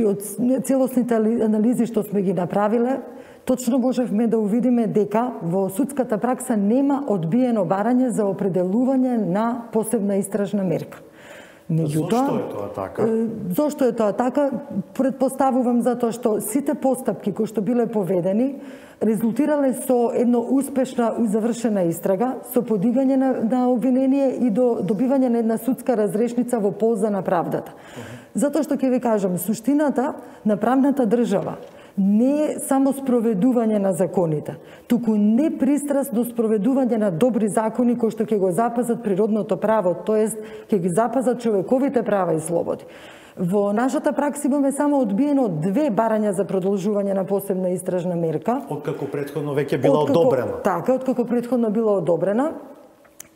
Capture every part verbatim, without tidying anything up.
Од целосните анализи што сме ги направиле, точно можевме да увидиме дека во судската пракса нема одбиено барање за определување на посебна истражна мерка. Меѓутоа, зошто е тоа така? Зошто е тоа така? Предпоставувам затоа што сите постапки кои што биле поведени резултирале со едно успешна и завршена истрага, со подигање на, на обвинение и до добивање на една судска разрешница во полза на правдата. Uh -huh. Затоа што ќе ви кажам, суштината на правната држава не е само спроведување на законите, туку непристрасно спроведување на добри закони кои што ќе го запазат природното право, тоест ќе ги запазат човековите права и слободи. Во нашата пракса имаме само одбиено две барања за продолжување на посебна истражна мерка. Откако претходно веќе била откако, одобрена. Така, откако претходно била одобрена.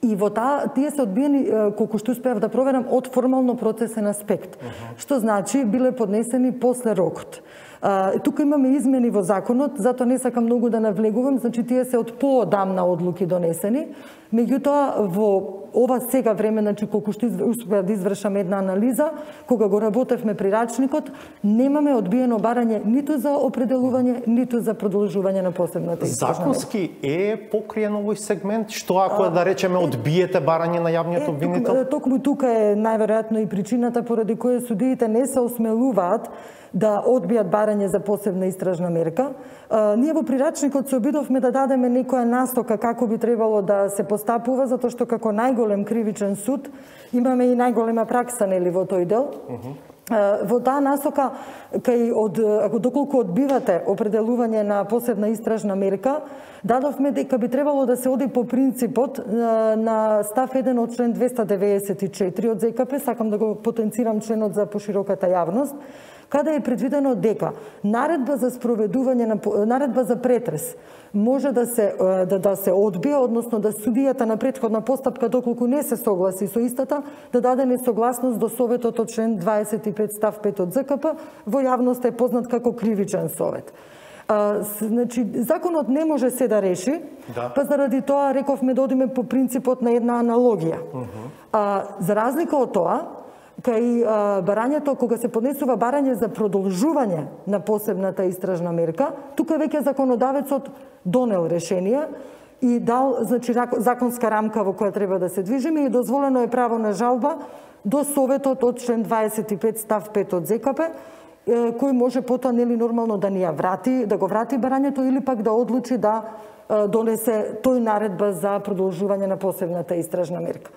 И во таа, тие се одбиени, колку што успеав да проверам, од формално процесен аспект. Uh -huh. Што значи, биле поднесени после рокот. А, тука имаме измени во законот, затоа не сакам многу да навлегувам, значи тие се од поодамна одлуки донесени. Меѓутоа, во ова сега време, значи колку што успеав да извршам една анализа, кога го работевме при рачникот, немаме одбиено барање ниту за определување, ниту за продолжување на посебната истражна. Законски е покриен овој сегмент, што ако а, да речеме одбиете барање на јавниот обвинител? Е, токму тука е најверојатно и причината поради која судиите не се осмелуваат да одбијат барање за посебна истражна мерка. А, ние во прирачникот се обидовме да дадеме некоја настока како би требало да се постапува, затоа што како најголем кривичен суд имаме и најголема пракса нели во тој дел. Uh -huh. Во таа насока, кај од, ако доколку одбивате определување на посебна истражна мерка, дадовме дека би требало да се оди по принципот на, на став еден од член двеста деветдесет и четири од ЗКП, сакам да го потенцирам членот за пошироката јавност, каде е предвидено дека наредба за спроведување на наредба за претрес може да се да, да се одбие, односно да судијата на претходна постапка доколку не се согласи со истата, да даде несогласност до советот од член дваесет и пет став пет од ЗКП, во јавност е познат како кривичен совет. А, значи, законот не може се да реши, да. Па заради тоа рековме да одиме по принципот на една аналогија. Uh -huh. а, за разлика од тоа, кај а, барањето, кога се поднесува барање за продолжување на посебната истражна мерка, тука веќе законодавецот донел решенија и дал, значи, законска рамка во која треба да се движиме и дозволено е право на жалба до советот од член дваесет и пет став пет од ЗКП, кој може потоа нели нормално да ни ја врати, да го врати барањето или пак да одлучи да донесе тој наредба за продолжување на посебната истражна мерка.